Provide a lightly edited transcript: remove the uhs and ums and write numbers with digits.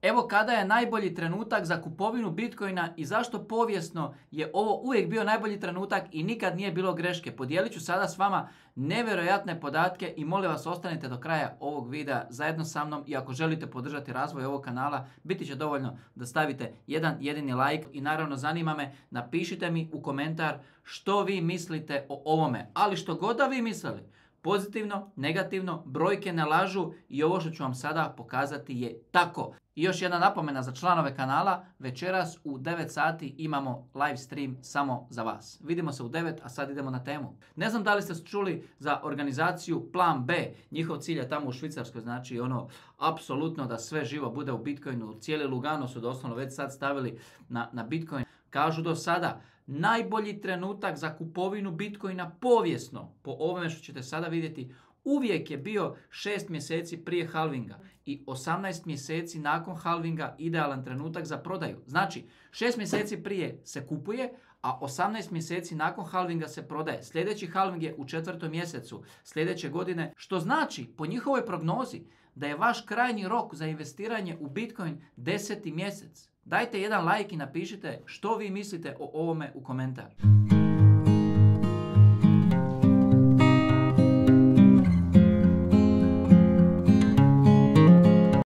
Evo kada je najbolji trenutak za kupovinu Bitcoina i zašto povijesno je ovo uvijek bio najbolji trenutak i nikad nije bilo greške. Podijelit ću sada s vama nevjerojatne podatke i molim vas ostanite do kraja ovog videa zajedno sa mnom i ako želite podržati razvoj ovog kanala, biti će dovoljno da stavite jedan jedini like i naravno zanima me, napišite mi u komentar što vi mislite o ovome. Ali što god da vi mislili, pozitivno, negativno, brojke ne lažu i ovo što ću vam sada pokazati je tako. I još jedna napomena za članove kanala, večeras u 9 sati imamo live stream samo za vas. Vidimo se u 9, a sad idemo na temu. Ne znam da li ste čuli za organizaciju Plan B, njihov cilj je tamo u Švicarskoj, znači apsolutno da sve živo bude u Bitcoinu, cijeli Lugano su doslovno već sad stavili na Bitcoin. Kažu do sada, najbolji trenutak za kupovinu Bitcoina povijesno, po ovome što ćete sada vidjeti, uvijek je bio 6 mjeseci prije halvinga i 18 mjeseci nakon halvinga idealan trenutak za prodaju. Znači, 6 mjeseci prije se kupuje, a 18 mjeseci nakon halvinga se prodaje. Sljedeći halving je u 4. mjesecu sljedeće godine, što znači po njihovoj prognozi da je vaš krajnji rok za investiranje u Bitcoin 10. mjesec. Dajte jedan like i napišite što vi mislite o ovome u komentar.